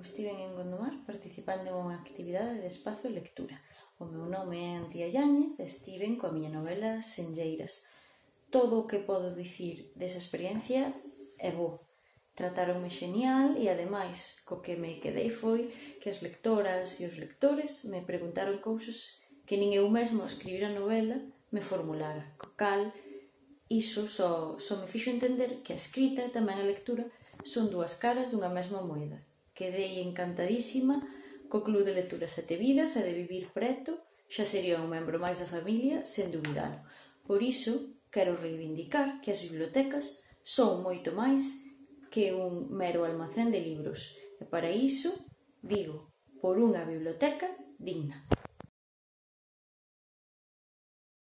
estiven en Gondomar participando en unha actividade de espazo e lectura. O meu nome é Antía Yáñez e estiven coa miña novela Senlleiras. Todo o que podo dicir desa experiencia é bo. Tratáronme xenial e, ademais, co que me quedei foi que as lectoras e os lectores me preguntaron cousas que nin eu mesmo a escribir a novela me formulara, co cal iso só me fixo entender que a escrita e tamén a lectura son dúas caras dunha mesma moeda. Quedei encantadísima co Club de Lectura Sete Vidas e de vivir preto xa sería un membro máis da familia sen dubidalo. Por iso, quero reivindicar que as bibliotecas son moito máis que un mero almacén de libros. E para iso, digo, por unha biblioteca digna.